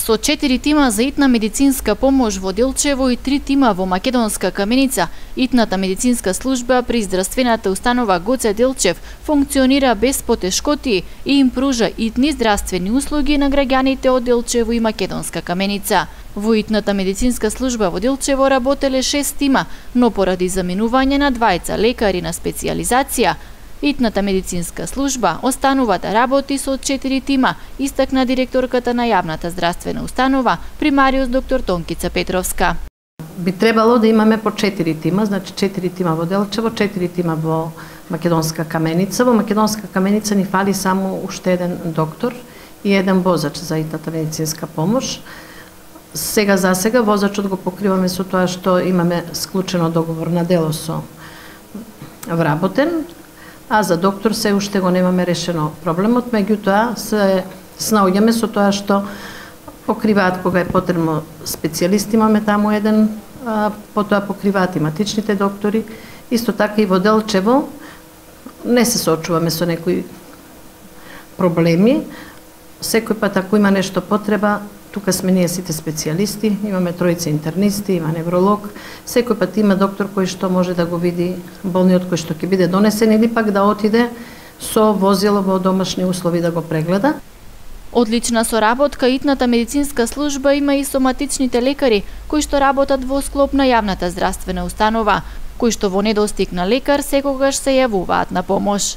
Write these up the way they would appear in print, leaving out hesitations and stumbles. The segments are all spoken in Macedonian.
Со 4 тима за итна медицинска помош во Делчево и 3 тима во Македонска Каменица, итната медицинска служба при здравствената установа Гоце Делчев функционира без потешкоти и им пружа итни здравствени услуги на граѓаните од Делчево и Македонска Каменица. Во итната медицинска служба во Делчево работеле 6 тима, но поради заминување на двајца лекари на специјализација, итната медицинска служба останува да работи со 4 тима, истакна директорката на јавната здравствена установа, примариус доктор Тонкица Петровска. Би требало да имаме по 4 тима, значи 4 тима во Делчево, 4 тима во Македонска Каменица. Во Македонска Каменица ни фали само уште еден доктор и еден возач за итната медицинска помош. Сега за сега возачот го покриваме со тоа што имаме склучено договор на дело со вработен, а за доктор се уште го немаме решено проблемот, меѓутоа се снаоѓаме со тоа што покриваат кога е потребно специјалисти, имаме таму еден, потоа покриваат иматичните доктори. Исто така и во Делчево не се соочуваме со некои проблеми. Секој пат ако има нешто потреба, тука сме ние сите специјалисти, имаме тројца интернисти, има невролог, секој пат има доктор кој што може да го види болниот кој што ќе биде донесен или пак да отиде со возило во домашни услови да го прегледа. Одлична соработка итната медицинска служба има и соматичните лекари кои што работат во склоп на јавната здравствена установа, кои што во недостиг на лекар секогаш се јавуваат на помош.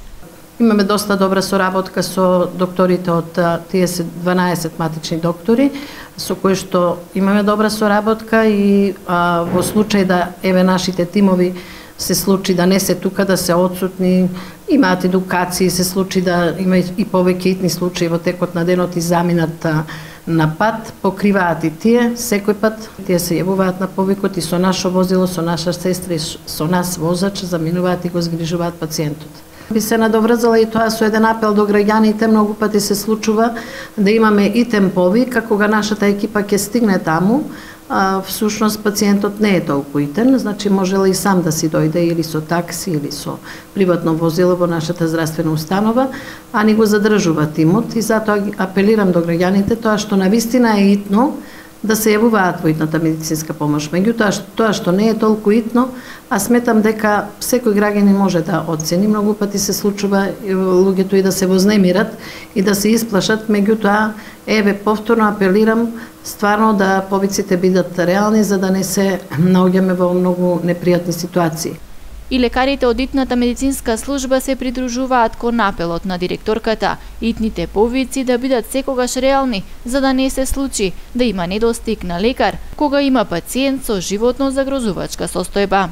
Имаме доста добра соработка со докторите од тие 12 матични доктори, со кои што имаме добра соработка и во случај да еве нашите тимови се случи да не се тука, да се отсутни, имаат едукации, се случи да има и повеќе итни случаи во текот на денот и заминат на пат, покриваат и тие, секој пат тие се јавуваат на повикот и со наше возило, со наша сестра и со нас возач, заминуваат и го згрижуваат пациентот. Би се надоврзала и тоа со еден апел до граѓаните, многу пати се случува да имаме и темпови, како кога нашата екипа ќе стигне таму, всушност пациентот не е толку итен, значи можела и сам да си дојде или со такси или со приватно возило во нашата здравствена установа, а ни го задржува тимот и затоа апелирам до граѓаните тоа што навистина е итно да се јавуваат во итната медицинска помош. Меѓутоа тоа што не е толку итно, а сметам дека секој граѓанин може да оцени, многу пати се случува луѓето и да се вознемират и да се исплашат, меѓутоа еве повторно апелирам стварно да повиците бидат реални за да не се наоѓаме во многу непријатни ситуации. И лекарите од итната медицинска служба се придружуваат кон апелот на директорката, итните повици да бидат секогаш реални, за да не се случи да има недостиг на лекар, кога има пациент со животно загрозувачка состојба.